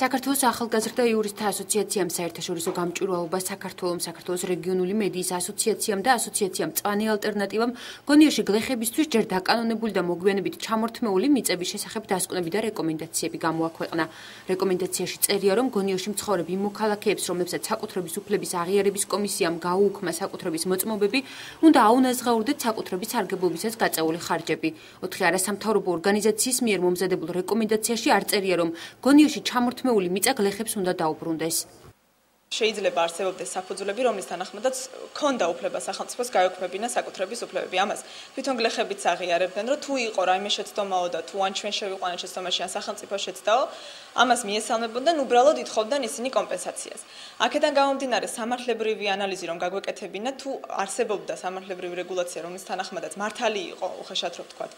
საქართველოს ახალგაზრდა იურისტთა ასოციაციამ საერთაშორისო გამჭვირვალობა საქართველოს რეგიონული მედიის ასოციაციამ და ასოციაციამ მწვანე ალტერნატივამ გონიოში გლეხებისთვის ჯერ დაკანონებული და მოგვიანებით ჩამორთმეული მიწების შესახებ დასკვნები და რეკომენდაციები გამოაქვეყნა. რეკომენდაციაში წერია, რომ გონიოში მცხოვრებ იმ მოქალაქეებს, რომლებსაც საკუთრების უფლების აღიარების კომისიამ გაუუქმა საკუთრების მოწმობები, უნდა აუნაზღაურდეთ საკუთრების სარგებლობისას გაწეული ხარჯები. 4 არასამთავრობო ორგანიზაციის მიერ მომზადებულ რეკომენდაციაში არ წერია, რომ გონიოში ჩამორთმეული მიწა გლეხებს უნდა დაუბრუნდეს. შეიძლება არსებობდეს საფუძვლები, რომლის თანახმადაც ქონდა უფლება სახელმწიფოს გაეუქმებინა საკუთრების უფლებები. ამას თვითონ გლეხებიც აღიარებდნენ, რომ თუ იყო რაიმე შეცდომაო და თუ ან ჩვენ შევიყვანეთ შეცდომაში ან სახელმწიფო შეცდაო, ამას მიესალმებოდნენ, უბრალოდ ითხოვდნენ ისინი კომპენსაციას. აქედან გამომდინარე სამართლებრივი ანალიზი რომ გაგვეკეთებინა, თუ არსებობდა სამართლებრივი რეგულაცია, რომლის თანახმადაც მართალი იყო, უხეშად რო ვთქვათ,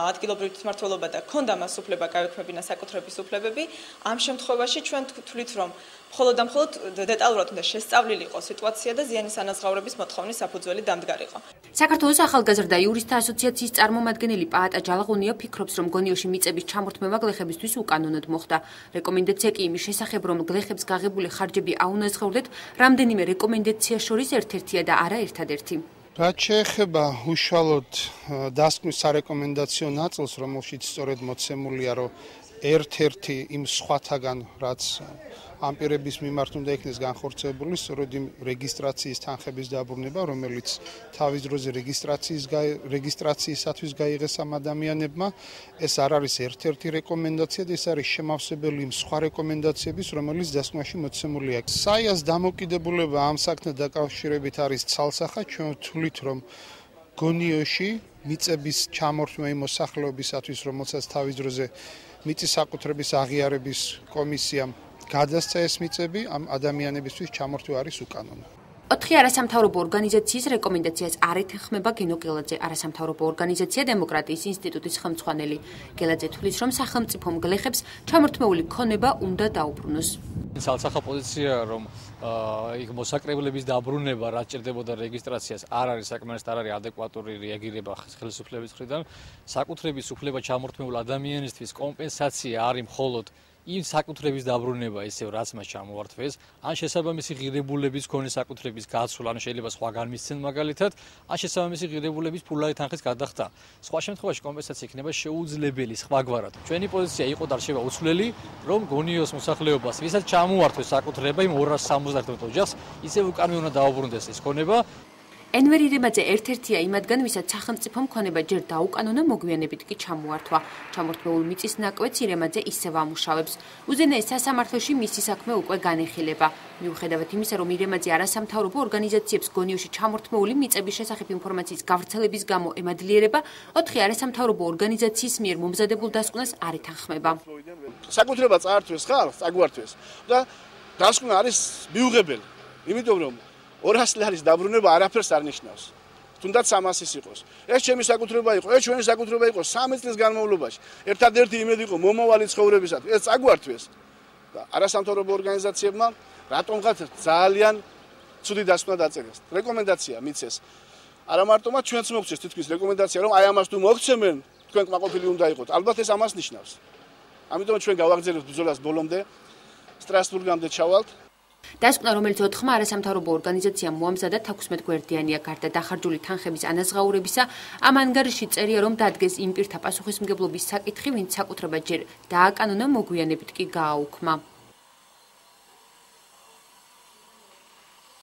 ადგილობრივი თვითმმართველობა და ქონდა მას უფლება გაეუქმებინა საკუთრების უფლებები, ამ შემთხვევაში ჩვენ თვლით, რომ მხოლოდ და მხოლოდ დეტალურად უნდა შესწავლილი იყოს სიტუაცია და ზიანის ანაზღაურების მოთხოვნის საფუძველი დამდგარიყო. საქართველოს ახალგაზრდა იურისტთა ასოციაციის წარმომადგენელი პაატა ჯალაღონია ფიქრობს, რომ გონიოში მიწების ჩამორთმევა გლეხებისთვის უკანონოდ მოხდა. რეკომენდაცია კი იმის შესახებ, რომ გლეხებს გაღებული ხარჯები აუნაზღაურდეთ, რამდენიმე რეკომენდაციას შორის ერთ-ერთია და არა ერთადერთი. რაც შეეხება უშუალოდ დასკვნის სარეკომენდაციო ნაწილს, რომელშიც სწორედ მოცემულია, რომ ერთ-ერთი იმ სხვათაგან, რაც ამ პირების მიმართ უნდა იქნეს განხორციელებული, სწორედ იმ რეგისტრაციის თანხების დაბრუნება, რომელიც თავის დროზე რეგისტრაციისათვის გაიღეს ამ ადამიანებმა, ეს არ არის ერთ-ერთი რეკომენდაცია და ეს არის შემავსებელი იმ სხვა რეკომენდაციების, რომელიც დასკვნაში მოცემულია. საიას დამოკიდებულება ამ საქმესთან დაკავშირებით არის ცალსახად, ჩვენ ვთვლით, რომ გონიოში მიწების ჩამორთმევა იმ მოსახლეობისათვის, რომელსაც თავის დროზე მიწის საკუთრების აღიარების კომისიამ გადასცა ეს მიწები, ამ ადამიანებისთვის ჩამორთმევა არის უკანონო. 4 არასამთავრობო ორგანიზაციის რეკომენდაციას არ ეთანხმება გენო გელაძე, არასამთავრობო ორგანიზაცია დემოკრატიის ინსტიტუტის ხელმძღვანელი. გელაძე თვლის, რომ სახელმწიფომ გლეხებს ჩამორთმეული ქონება უნდა დაუბრუნოს. ცალსახა პოზიცია, რომ იქ მოსაკრებლების დაბრუნება, რაც ჭირდებოდა რეგისტრაციას, არ არის საკმარისად არ არის ადეკვატური რეაგირება ხელისუფლების მხრიდან. საკუთრების უფლება ჩამორთმეულ ადამიანისთვის კომპენსაცია არის მხოლოდ იმ საკუთრების დაბრუნება ისევ რაც მას ჩამოართვეს, ან შესაბამისი ღირებულების მქონე საკუთრების გაცვლა, ან შეიძლება სხვაგან მისცენ მაგალითად, ან შესაბამისი ღირებულების ფულადი თანხის გადახდა. სხვა შემთხვევაში კომპენსაცია იქნება შეუძლებელი სხვაგვარად. ჩვენი პოზიცია იყო და რჩება უცვლელი, რომ გონიოს მოსახლეობას, ვისაც ჩამოართვეს საკუთრება იმ 271 ოჯახს, ისევ უკანონო უნდა დაუბრუნდეს ეს ქონება. ენვერ ირემაძე ერთ-ერთია იმათგან, ვისაც სახელმწიფომ ქონება ჯერ დაუკანონა, მოგვიანებით კი ჩამოართვა. ჩამორთმეულ მიწის ნაკვეთს ირემაძე ისევ ამუშავებს. უზენაეს სასამართლოში მისი საქმე უკვე განეხილება. მიუხედავად იმისა, რომ ირემაძე არასამთავრობო ორგანიზაციებს გონიოში ჩამორთმეული მიწების შესახებ ინფორმაციის გავრცელების გამო ემადლიერება, 4 არასამთავრობო ორგანიზაციის მიერ მომზადებულ დასკვნას არ ეთანხმება. საკუთრება წაართვეს ხალხს, წაგვართვეს და დასკვნა არის მიუღებელი. იმიტომ რომ 200 ლარის დაბრუნება არაფერს არ ნიშნავს. თუნდაც 300-ის იყოს. ეს ჩემი საკუთრება იყო, ეს ჩვენი საკუთრება იყო 3 წლის განმავლობაში. ერთადერთი იმედი იყო მომავალი ცხოვრებისათვის. ეს წაგვართვეს. და არასამთავრობო ორგანიზაციებმა რატომღაც ძალიან ცუდი დასკვნა დაწერეს. რეკომენდაცია მიცეს. არა მარტო მათ ჩვენც მოგცეს თითქმის რეკომენდაცია, რომ აი ამას თუ მოგცემენ, თქვენ კმაყოფილი უნდა იყოთ. ალბათ ეს ამას ნიშნავს. ამიტომ ჩვენ გავაგზავნებთ ბრძოლას ბოლომდე, სტრასბურგამდე ჩავალთ. დასკვნა, რომელიც 4 არასამთავრობო ორგანიზაციამ მოამზადა 16 გვერდიანია, გარდა დახარჯული თანხების ანაზღაურებისა, ამ ანგარიში წერია, რომ დადგეს იმ პირთა პასუხისმგებლობის საკითხი, ვინც საკუთრება ჯერ დააკანონა, მოგვიანებით კი გააუქმა.